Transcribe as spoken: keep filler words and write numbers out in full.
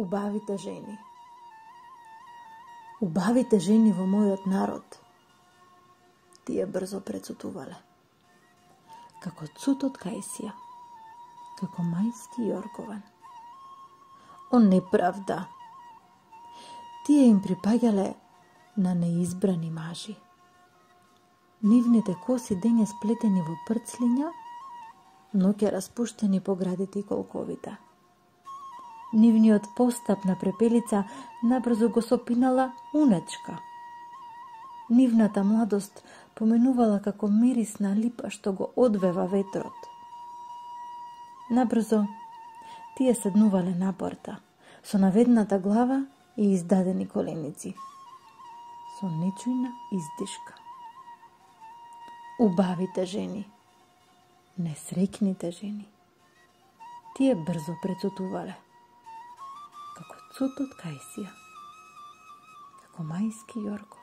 Убавите жени. Убавите жени во мојот народ, тие брзо прецутувале. Како цут од кајсија, како мајски јоргован. О неправда! Тие им припаѓале на неизбрани мажи. Нивните коси дење сплетени во прцлиња, ноќе распуштени по градите и колковите. Нивниот постап на препелица набрзо го сопинала унечка. Нивната младост поменувала како мирисна липа што го одвева ветрот. Набрзо тие седнувале на порта, со наведната глава и издадени коленици, со нечујна издишка. Убавите жени, несреќните жени, тие брзо прецутувале, како цут од кајсија, како мајски јорго.